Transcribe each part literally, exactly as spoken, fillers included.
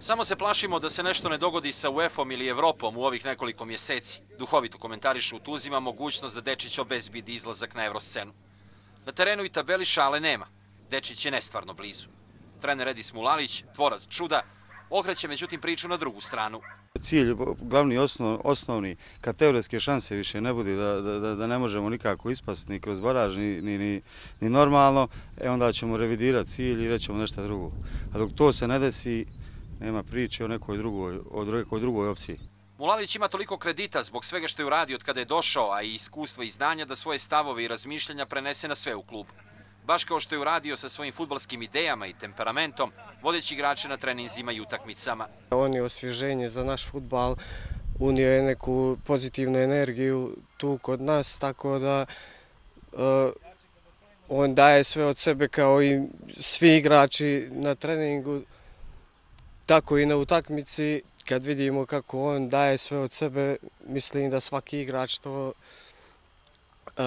Samo se plašimo da se nešto ne dogodi sa U E F-om ili Evropom u ovih nekoliko mjeseci. Duhovito komentarišu Tuzima mogućnost da Dečić obezbedi izlazak na Evroscenu. Na terenu i tabeli šale nema. Dečić je nestvarno blizu. Trener Edis Mulalić, tvorac čuda, okreće međutim priču na drugu stranu. Cilj, glavni osnov, osnovni, kad teoretske šanse više ne bude, da, da, da ne možemo nikako ispasti ni kroz baraž, ni, ni, ni, ni normalno, e onda ćemo revidirati cilj i rećemo nešto drugo. A dok to se ne desi, nema priče o nekoj drugoj, o nekoj drugoj opciji. Mulalić ima toliko kredita zbog svega što je uradio od kada je došao, a i iskustva i znanja da svoje stavove i razmišljanja prenese na sve u klubu. Baš kao što je uradio sa svojim fudbalskim idejama i temperamentom, vodeći igrače na treninzima i utakmicama. On je osvježenje za naš fudbal, unio je neku pozitivnu energiju tu kod nas, tako da uh, on daje sve od sebe kao i svi igrači na treningu, tako i na utakmici. Kad vidimo kako on daje sve od sebe, mislim da svaki igrač to uh,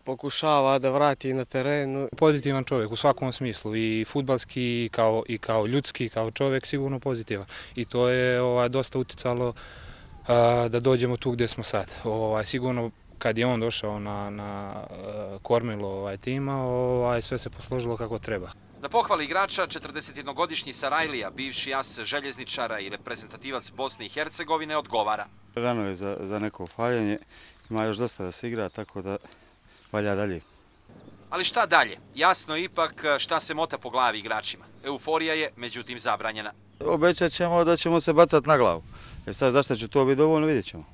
pokušava da vrati na terenu. Pozitivan čovjek u svakom smislu, i fudbalski i kao, i kao ljudski, kao čovjek sigurno pozitivan. I to je ovaj, dosta uticalo uh, da dođemo tu gdje smo sad. Ovaj, sigurno kad je on došao na, na uh, kormilo ovaj, tima, ovaj, sve se posložilo kako treba. Da pohvali igrača, četrdesetjednogodišnji Sarajlija, bivši as željezničara i reprezentativac Bosne i Hercegovine, odgovara. Rano je za, za neko faljenje, ima još dosta da se igra, tako da valja dalje. Ali šta dalje? Jasno je ipak šta se mota po glavi igračima. Euforija je, međutim, zabranjena. Obećat ćemo da ćemo se bacati na glavu. E sad, zašto će to biti dovoljno, vidjet ćemo.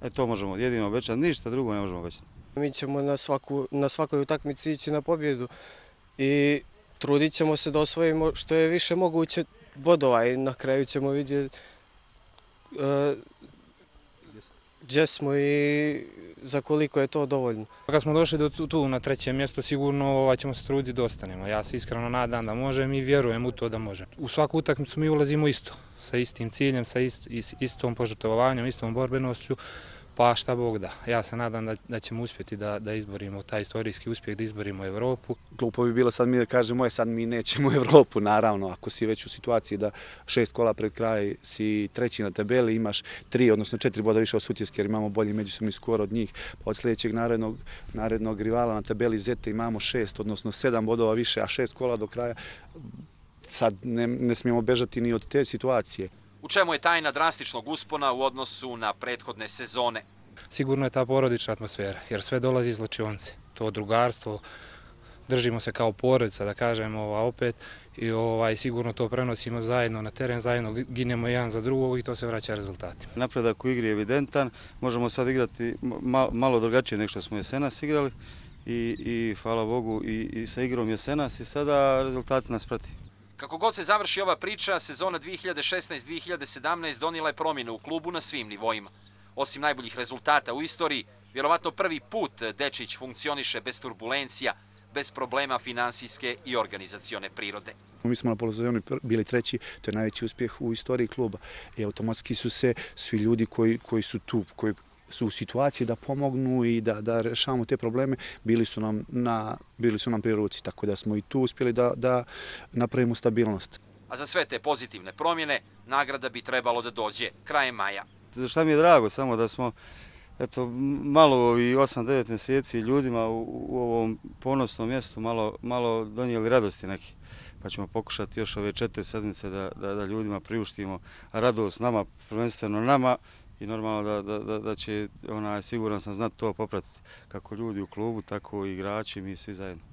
E to možemo jedino obećati, ništa drugo ne možemo obećati. Mi ćemo na, svaku, na svakoj utakmici ići na pobjedu i trudit ćemo se da osvojimo što je više moguće bodova i na kraju ćemo vidjeti uh, gdje smo i za koliko je to dovoljno. Kad smo došli do tu, tu na treće mjesto, sigurno ovaj, ćemo se truditi da ostanemo. Ja se iskreno nadam da možem i vjerujem u to da možem. U svaku utakmicu mi ulazimo isto, sa istim ciljem, sa ist, istom požrtvovanjem, istom borbenošću, pa šta Bog da. Ja se nadam da, da ćemo uspjeti da, da izborimo taj istorijski uspjeh, da izborimo Evropu. Glupo bi bilo sad mi da kažemo, sad mi nećemo Evropu, naravno, ako si već u situaciji da šest kola pred kraj si treći na tabeli, imaš tri, odnosno četiri boda više od Sutjeske jer imamo bolji međusobni skor od njih, pa od sljedećeg narednog, narednog rivala na tabeli Zete imamo šest, odnosno sedam bodova više, a šest kola do kraja, sad ne, ne smijemo bežati ni od te situacije. U čemu je tajna drastičnog uspona u odnosu na prethodne sezone? Sigurno je ta porodična atmosfera, jer sve dolazi iz Lačionce. To drugarstvo, držimo se kao porodica, da kažemo, a opet i ovaj, sigurno to prenosimo zajedno na teren, zajedno ginemo jedan za drugog i to se vraća rezultatima. Napredak u igri je evidentan, možemo sad igrati malo drugačije nego što smo jesenas igrali i, i hvala Bogu i, i sa igrom jesenas i sada rezultati nas prati. Kako god se završi ova priča, sezona dvije hiljade šesnaeste dvije hiljade sedamnaeste donijela je promjene u klubu na svim nivoima. Osim najboljih rezultata u istoriji, vjerovatno prvi put Dečić funkcioniše bez turbulencija, bez problema finansijske i organizacione prirode. Mi smo na polosezoni bili treći, to je najveći uspjeh u istoriji kluba. I automatski su se svi ljudi koji, koji su tu, koji su u situaciji da pomognu i da, da rešavamo te probleme, bili su nam, na, bili su nam pri ruci, tako da smo i tu uspjeli da, da napravimo stabilnost. A za sve te pozitivne promjene, nagrada bi trebalo da dođe krajem maja. Šta mi je drago, samo da smo eto, malo ovih osam devet mjeseci ljudima u, u ovom ponosnom mjestu malo, malo donijeli radosti neki. Pa ćemo pokušati još ove četiri sedmice da, da, da ljudima priuštimo radost nama, prvenstveno nama, i normalno da, da, da, da će, onaj, siguran sam, znati to popratiti kako ljudi u klubu, tako i igrači, mi svi zajedno.